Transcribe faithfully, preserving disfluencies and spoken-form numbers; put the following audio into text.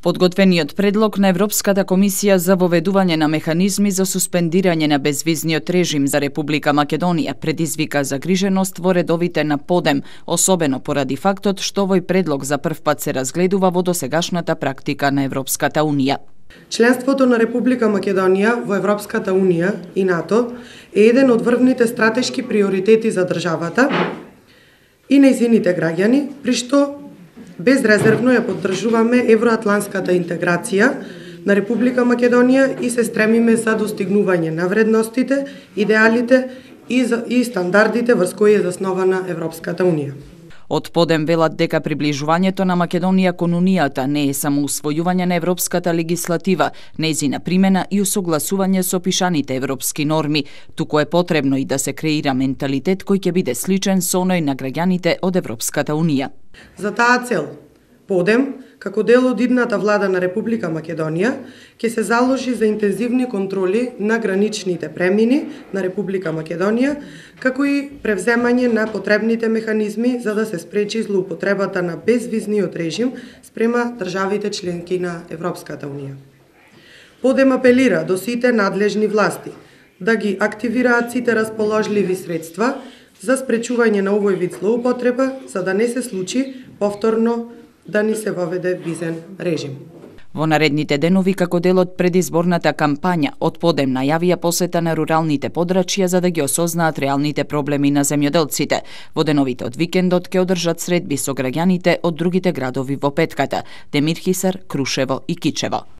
Подготвениот предлог на Европската комисија за воведување на механизми за суспендирање на безвизниот режим за Република Македонија предизвика загриженост во редовите на ПОДЕМ, особено поради фактот што овој предлог за прв пат се разгледува во досегашната практика на Европската Унија. Членството на Република Македонија во Европската Унија и НАТО е еден од врвните стратешки приоритети за државата и нејзините граѓани, при што безрезервно ја поддржуваме евроатлантската интеграција на Република Македонија и се стремиме за достигнување на вредностите, идеалите и, за, и стандардите врз кои е заснована Европската Унија. Од ПОДЕМ велат дека приближувањето на Македонија кон Унијата не е само усвојување на европската легислатива, нејзина примена и усогласување со пишаните европски норми, туку е потребно и да се креира менталитет кој ќе биде сличен со оној на граѓаните од Европската Унија. За таа цел, ПОДЕМ, како дел од идната влада на Република Македонија, ќе се заложи за интензивни контроли на граничните премини на Република Македонија, како и превземање на потребните механизми за да се спречи злоупотребата на безвизниот режим спрема државите членки на Европската Унија. ПОДЕМ апелира до сите надлежни власти да ги активираат сите расположливи средства за спречување на овој вид злоупотреба, за да не се случи повторно да ни се воведе визен режим. Во наредните денови, како дел од предизборната кампања, од ПОДЕМ најавија посета на руралните подрачја за да ги осознаат реалните проблеми на земјоделците. Во деновите од викендот ќе одржат средби со граѓаните од другите градови во Петката, Демир Хисар, Крушево и Кичево.